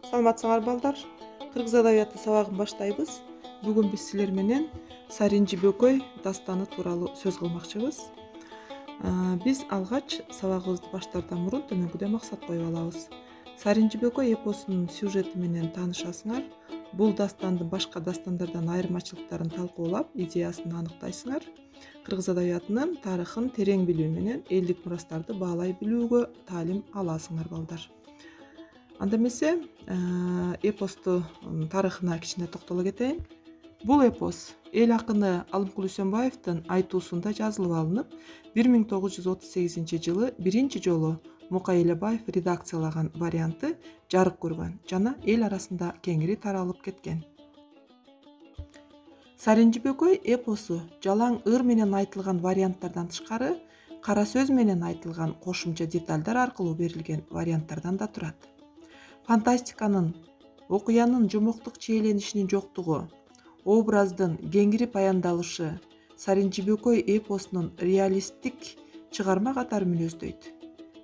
Саламатсыңар балдар. Кыргыз адабияты сабагын баштайбыз. Бүгүн биз силер менен Саринжи Бөкөй дастаны тууралуу сөз кылмакчыбыз. Биз алгач сабагыбызды баштаардан мурун төмөнкүдөй максат коюп алабыз. Саринжи Бөкөй эпосунун сюжети менен таанышасыңар. Бул дастандын башка дастандардан айырмачылыктарын талкуулап, идеясын аныктайсыңар. Кыргыз адабиятынын тарыхын терең билүү менен элдик мурастарды баалай билүүгө таалим аласыңар балдар. Анда эмесе эпосту тарыхына кичине токтоло кетейин. Бул эпос эл акыны Алымкул Үсөнбаевдин айтуусунда жазылып алынып, 1938 жылы биринчи жолу Мукай Элебаев редакциялаган варианты жарык көргөн жана эл арасында кеңири таралып кеткен. Саринжи Бөкөй эпосу жалаң ыр менен айтылган варианттардан тышкары, кара сөз менен айтылган кошумча детальдар аркылуу берилген варианттардан да турат. Фантастиканын, окуянын жомоктук чийеленишинин жоктугу, образдын кеңири баяндалышы Саринжи Бөкөй эпосунун реалисттик чыгарма катары мүнөздөйт.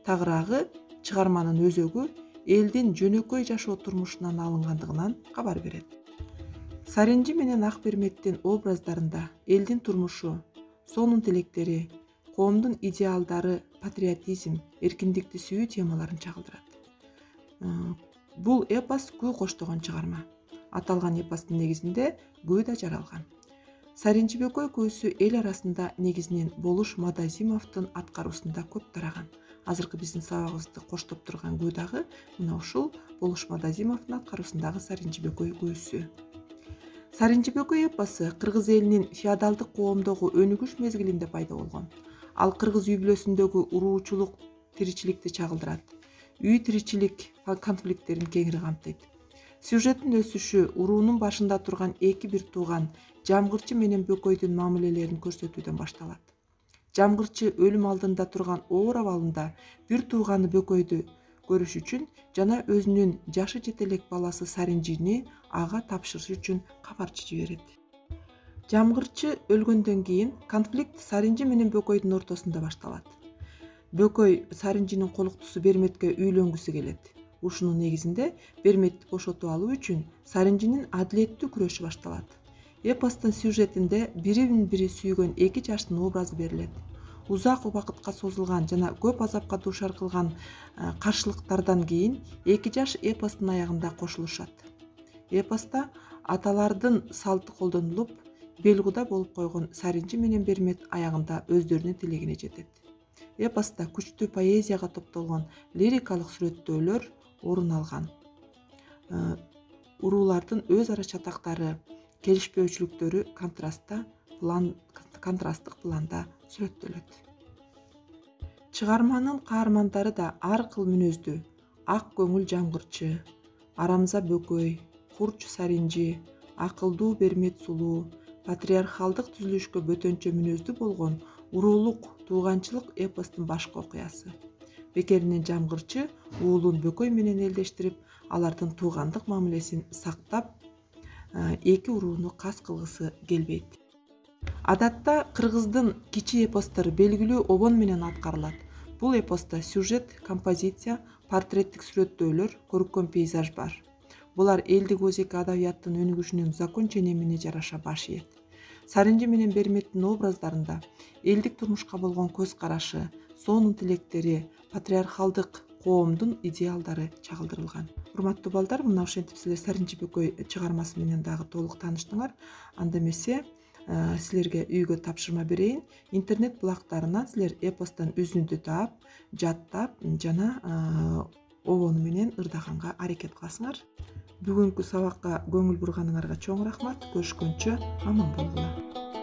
Тагыраагы чыгарманын өзөгү элдин жөнөкөй жашоо турмушунан алынгандыгынан кабар берет. Саринжи менен Акберметтин образдарында элдин турмушу, сонун тилектери, коомдун идеалдары, патриотизм, эркиндикти сүйүү темаларын чагылдырат. Бул эпос күү коштогон чыгарма. Аталган эпостун негизинде күү да жаралган. Саринжи Бөкөй күүсү эл арасында негизинен Болуш Мадазимовдун аткаруусунда көп тараган. Азыркы биздин сабагыбызды коштоп турган күү дагы мына ушул Болуш Мадазимовдун аткаруусундагы Саринжи Бөкөй күүсү. Саринжи Бөкөй эпосу кыргыз элинин феодалдык коомдогу өнүгүш мезгилинде пайда болгон. Ал кыргыз үй бүлөсүндөгү уруучулук тиричиликти чагылдырат. Үй тиричилик конфликттерин кеңири камтыйт. Сюжеттин өсүшү уруунун башында турган эки бир тууган Жамгырчы менен Бөкөйдүн мамилелерин көрсөтүүдөн башталат. Жамгырчы өлүм алдында турган оор абалында бир тууганы Бөкөйдү көрүш үчүн жана өзүнүн жашы жете элек баласы Саринжини ага тапшырыш үчүн кабарчы жиберет. Жамгырчы өлгөндөн кийин конфликт Саринжи менен Бөкөйдүн ортосунда башталат. Бөкөй Саринжинин колуктусу Берметке үйлөнгүсү келет. Ушунун негизинде Берметти бошотуп алуу үчүн Саринжинин адилеттүү күрөшү башталат. Эпостун сюжетинде бири сүйгөн эки жаштын образы берилет. Узак убакытка созулган жана көп азапка дуушар кылган каршылыктардан кийин эки жаш эпостун аягында кошулушат. Эпоста аталардын салты колдонулуп, белгуда болуп койгон Саринжи менен Бермет аягында өздөрүнүн тилегине жетет. Эпоста күчтүү поэзияга топтолгон лирикалык сүрөттөөлөр орун алган. Уруулардын өз ара чатактары, келишпөөчүлүктөрү контрасттык планда сүрөттөлөт. Чыгарманын каармандары да ар кыл мүнөздүү. Ак көңүл Жамгырчы, Арамза Бөкөй, Курч Саринжи, акылдуу Бермет сулуу, патриархалдык түзүлүшкө бөтөнчө мүнөздүү болгон уруулук тууганчылык эпостун башкы окуясы. Бекеринен Жамгырчы уулун Бөкөй менен элдештирип, алардын туугандык мамилесин сактап, эки урууну кас кылгысы келбейт. Адатта кыргыздын кичи эпостор белгилүү обон менен аткарылат. Бул эпоста сюжет, композиция, портреттик сүрөттөөлөр, көркөм пейзаж бар. Булар элдик өзек адабияттын өнүгүшүнүн закон ченемине жараша баш ийет. Саринжи менен Берметтин образдарында элдик турмушка болгон көз карашы, сонун тилектери, патриархалдык коомдун идеалдары чагылдырылган. Урматтуу балдар, мына ошентип силер Саринжи Бөкөй чыгармасы менен дагы толук тааныштыңар. Анда эмесе силерге үйгө тапшырма берейин. Интернет булактарынан силер эпостон үзүндү таап, жаттап жана обону менен ырдаганга аракет кыласыңар. Бүгүнкү сабакка көңүл бурганыңарга чоң рахмат. Көрүшкөнчө аман болгула.